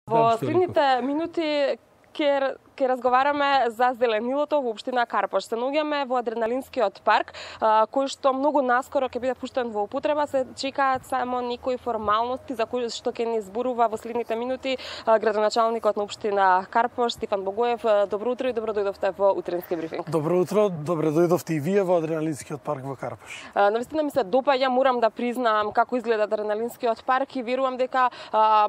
Во следните минути ќе разговараме за зеленилото во општина Карпош. Се наоѓаме во адреналинскиот парк, кој што многу наскоро ќе биде пуштен во употреба. Се чекаат само некои формалности за кои што ќе ни зборува во следните минути градоначалникот на општина Карпош, Стефан Богоев. Добро утро и добро дојдовте во утренски брифинг. Добро утро, добро дојдовте и вие во адреналинскиот парк во Карпош. Навистина ми се допаѓа, морам да признам како изгледа адреналинскиот парк и верувам дека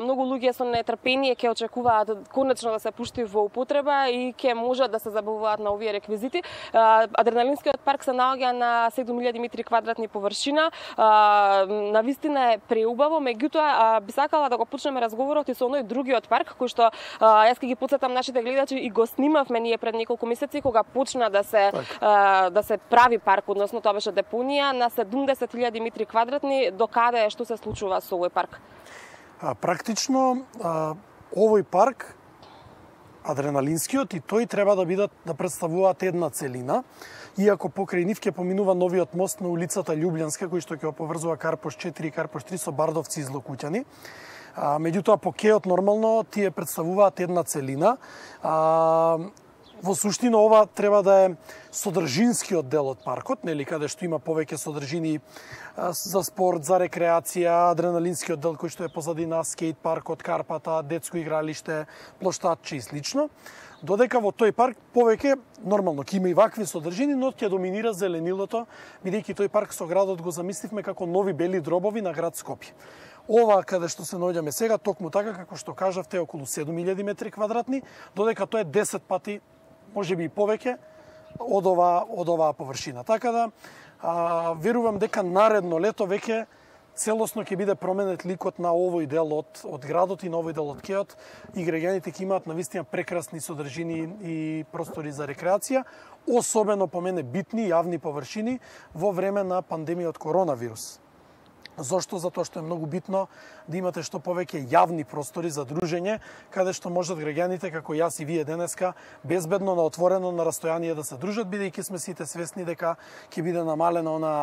многу луѓе со нетрпение ќе очекуваат конечно да се пушти во употреба и ќе можат да се забавуваат на овие реквизити. Адреналинскиот парк се наоѓа на 7000 метри квадратни површина. Навистина е преубаво, меѓутоа би сакала да го почнеме разговорот и со оној другиот парк кој што јас ќе ги потсетам нашите гледачи и го снимавме ние пред неколку месеци кога почна да се прави парк, односно тоа беше депонија на 70.000 метри квадратни. До каде што се случува со овој парк? Практично овој парк адреналинскиот и тој треба да представуваат една целина, иако покрај нив ќе поминува новиот мост на улицата Љубљанска кој што ќе поврзува Карпош 4 и Карпош 3 со Бардовци и Злокуќани. Меѓутоа по кеот нормално тие представуваат една целина. Во суштина ова треба да е содржинскиот дел од паркот, нели, каде што има повеќе содржини за спорт, за рекреација, адреналинскиот дел кој што е позадина, скејт паркот, карпата, детско игралиште, плоштадче и слично. Додека во тој парк повеќе нормално ќе има и вакви содржини, но ќе доминира зеленилото, бидејќи тој парк со градот го замисливме како нови бели дробови на град Скопје. Ова каде што се наоѓаме сега, токму така како што кажавте, е околу 7000 метри квадратни, додека тоа е 10 пати, можеби и повеќе од оваа површина. Така да верувам дека наредно лето веќе целосно ќе биде променет ликот на овој дел од градот и на овој дел од кеот и граѓаните ќе имаат навистина прекрасни содржини и простори за рекреација, особено по мене битни јавни површини во време на пандемија од коронавирус. Зошто? Затоа што е многу битно да имате што повеќе јавни простори за дружење, каде што можат граѓаните, како јас и вие денеска, безбедно на отворено на растојание да се дружат, бидејќи сме сите свесни дека ќе биде намалена она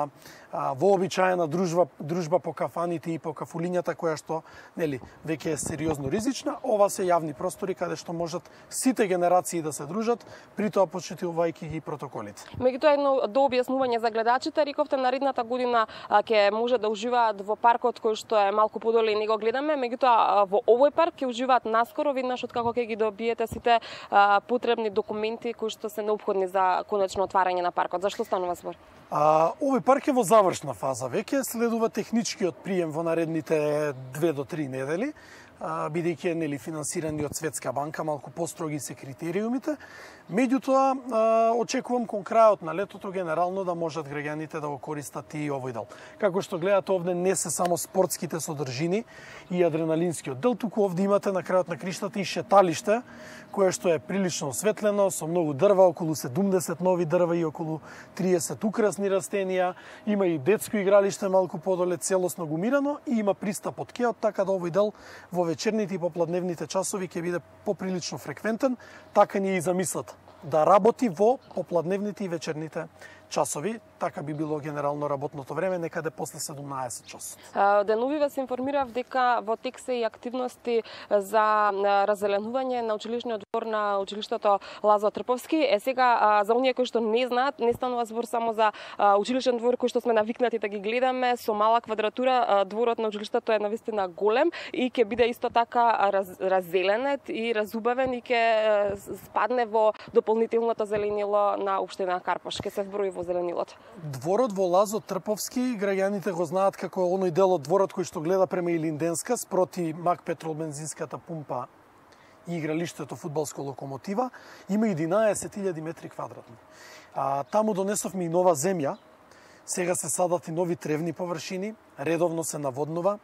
вообичаена дружба по кафаните и по кафулињата, која што, нели, веќе е сериозно ризична. Ова се јавни простори каде што можат сите генерации да се дружат, при тоа почитувајќи ги протоколите. Меѓутоа едно дообјаснување за гледачите, рековте наредната година ќе може да уживаат во паркот кој што е малку подоле и не го гледаме, меѓутоа во овој парк ќе уживаат наскоро веднаш откако ќе ги добиете сите потребни документи кои што се неопходни за конечно отварање на паркот. Зашто станува збор? Овој парк е во завршна фаза веќе, следува техничкиот прием во наредните 2 до 3 недели, бидејќи е нели финансирани од Светска банка, малку построги се критериумите. Меѓутоа, очекувам кон крајот на летото генерално да можат граѓаните да го користат и овој дел. Како што гледате овде не се само спортските содржини и адреналинскиот дел, туку овде имате на крајот на криштата и шеталиште, кое што е прилично осветлено, со многу дрва, околу 70 нови дрва и околу 30 украсни растенија. Има и детско игралиште малку подоле, целосно гумирано и има пристап од кеот, така да овој дел во вечерните и попладневните часови ќе биде поприлично фреквентен, така ни е и замислата да работи во попладневните и вечерните часови, така би било генерално работното време, некаде после 17 часот. Деновиве се информирав дека во тек се и активности за раззеленување на училишниот двор на училиштето Лазо Трповски. Сега, за оние кои што не знаат, не станува збор само за училишен двор кој што сме навикнати да ги гледаме со мала квадратура. Дворот на училиштето е навистина голем и ќе биде исто така раззеленет и разубавен и ќе спадне во дополнителното зеленило на општина Карпош. Ќе се вброи во зеленилото. Дворот во Лазо Трповски, граѓаните го знаат како оној дел од дворот кој што гледа према Илинденска, спроти Мак Петрол бензинската пумпа и игралиштето фудбалско Локомотива, има 11.000 метри квадратни. Таму донесовме и нова земја, сега се садат и нови тревни површини, редовно се наводнува,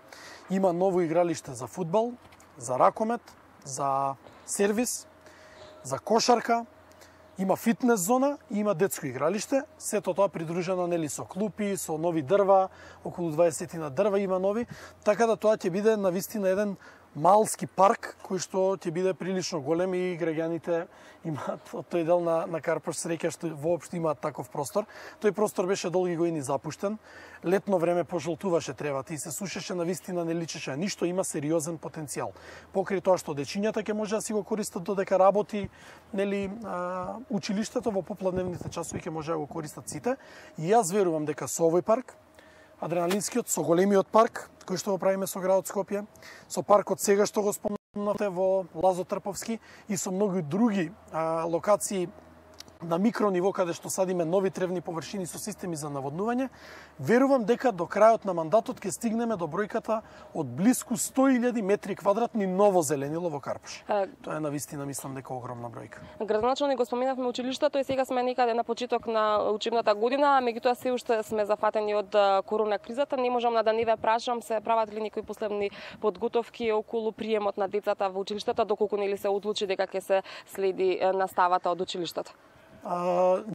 има ново игралиште за фудбал, за ракомет, за сервис, за кошарка, има фитнес зона и има детско игралиште, сето тоа придружено нели со клупи, со нови дрва, околу 20 на дрва има нови, така да тоа ќе биде навистина еден малски парк кој што ќе биде прилично голем и граѓаните имаат од тој дел на Карпош среќа што воопшто имаат таков простор. Тој простор беше долги години запуштен. Летно време пожолтуваше тревата и се сушеше, навистина не личеше ништо, има сериозен потенцијал. Покрај тоа што дечињата ќе може да си го користат додека работи, нели, училиштето во попладневните часови ќе може да го користат сите. И јас верувам дека со овој парк, адреналинскиот, со големиот парк кој што го правиме со градот Скопје, со паркот сега што го спомнате во Лазо Трповски и со многу други локации на микрониво каде што садиме нови тревни површини со системи за наводнување, верувам дека до крајот на мандатот ќе стигнеме до бројката од блиску 100.000 метри квадратни ново зеленило во Карпош. Тоа е навистина, мислам дека огромна бројка. Градоначалник го споминавме училиштето и сега сме некаде на почеток на учебната година, меѓутоа се уште сме зафатени од корона кризата. Не можам да не ве прашам, се прават ли некои последни подготовки околу приемот на децата во училиштата, доколку нели се одлучи дека ќе се следи наставата од училиштата?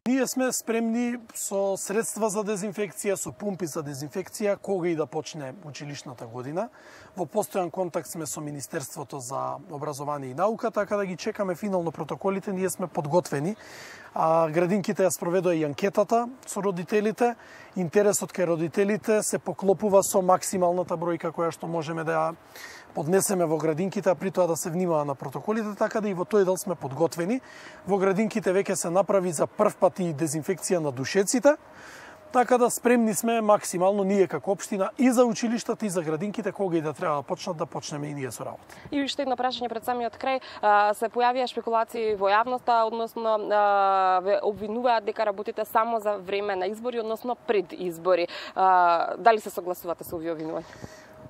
Ние сме спремни со средства за дезинфекција, со пумпи за дезинфекција, кога и да почне училишната година. Во постојан контакт сме со Министерството за образование и наука, така да ги чекаме финално протоколите, ние сме подготвени. Градинките ја спроведоа и анкетата со родителите. Интересот кај родителите се поклопува со максималната бројка која што можеме да ја поднесеме во градинките, а при тоа да се внимава на протоколите, така да и во тој дел сме подготвени. Во градинките веќе се направи за прв пат и дезинфекција на душеците, така да спремни сме максимално ние како општина и за училиштата и за градинките, кога и да треба да почнат, да почнеме и ние со работа. И уште едно прашање пред самиот крај, се појавија шпекулации во јавноста, односно ве обвинуваат дека работите само за време на избори, односно пред избори. Дали се согласувате со овие обвинувања?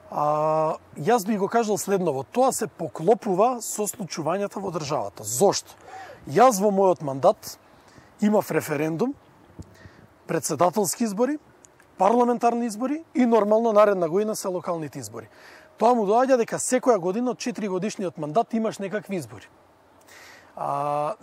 Јас би го кажал следново, тоа се поклопува со случувањата во државата. Зошто? Јас во мојот мандат имав референдум, председателски избори, парламентарни избори и нормално наредна година се локалните избори. Тоа му доаѓа дека секоја година од 4 годишниот мандат имаш некакви избори.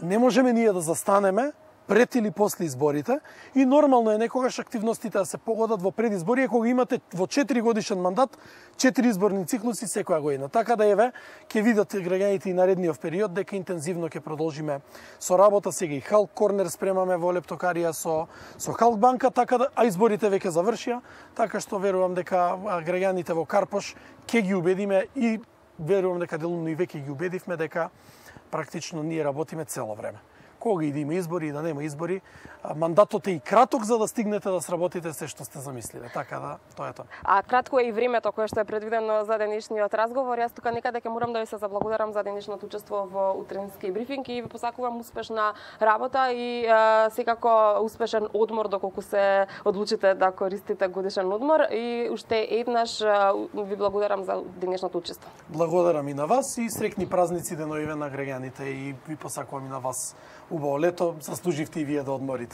Не можеме ние да застанеме пред или после изборите и нормално е некогаш активностите да се погодат во предизбори, кога имате во 4 годишен мандат 4 изборни циклуси секоја година. Така да еве ќе видат граѓаните и наредниот период дека интензивно ќе продолжиме со работа. Сега и Халк Корнер спремаме во Лептокарија со Халк банка, така да изборите веќе завршија, така што верувам дека граѓаните во Карпош ќе ги убедиме и верувам дека делумно и веќе ги убедивме дека практично ние работиме цело време. Кога и да има избори и да нема избори, мандатот е и краток за да стигнете да сработите се што сте замислиле. Така да, тоа е тоа. А кратко е и времето кое што е предвидено за денешниот разговор. Јас тука некаде ќе морам да ви се заблагодарам за денешното учество во утрински брифинг и ви посакувам успешна работа и секако успешен одмор доколку се одлучите да користите годишен одмор и уште еднаш ви благодарам за денешното учество. Благодарам и на вас и среќни празници деновиве на граѓаните и ви посакувам и на вас убаво лето, заслуживте и вие да одморите.